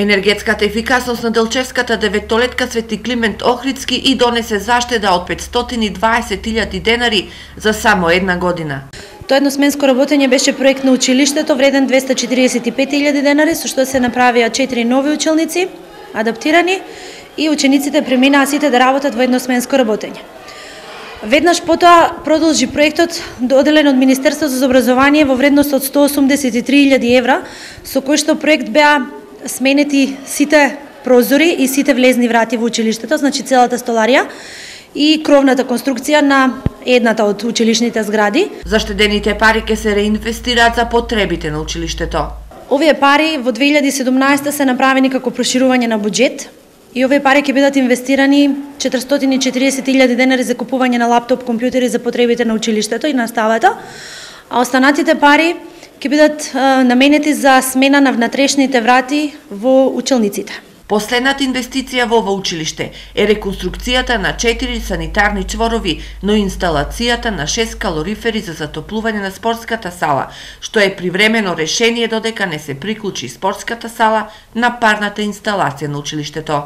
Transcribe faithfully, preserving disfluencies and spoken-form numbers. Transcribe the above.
Енергетската ефикасност на Делчевската деветолетка Свети Климент Охридски и донесе заштеда од петстотини и дваесет илјади денари за само една година. Тоа едносменско работење беше проект на училиштето вреден двесте четиридесет и пет илјади денари, со што се направија четири нови училници, адаптирани, и учениците преминаа сите да работат во едносменско работење. Веднаш потоа продолжи проектот доделен од Министерството за образование во вредност од сто осумдесет и три илјади евра, со кој што проект беа сменети сите прозори и сите влезни врати во училиштето, значи целата столарија и кровната конструкција на едната од училишните згради. Заштедените пари ќе се реинвестираат за потребите на училиштето. Овие пари во две илјади и седумнаесета се направени како проширување на буџет и овие пари ќе бидат инвестирани четиристотини и четиридесет илјади денари за купување на лаптоп компјутери за потребите на училиштето и наставата, а останатите пари ќе бидат наменети за смена на внатрешните врати во училниците. Последната инвестиција во ова училиште е реконструкцијата на четири санитарни чворови, но и инсталацијата на шест калорифери за затоплување на спортската сала, што е привремено решение додека не се приклучи спортската сала на парната инсталација на училиштето.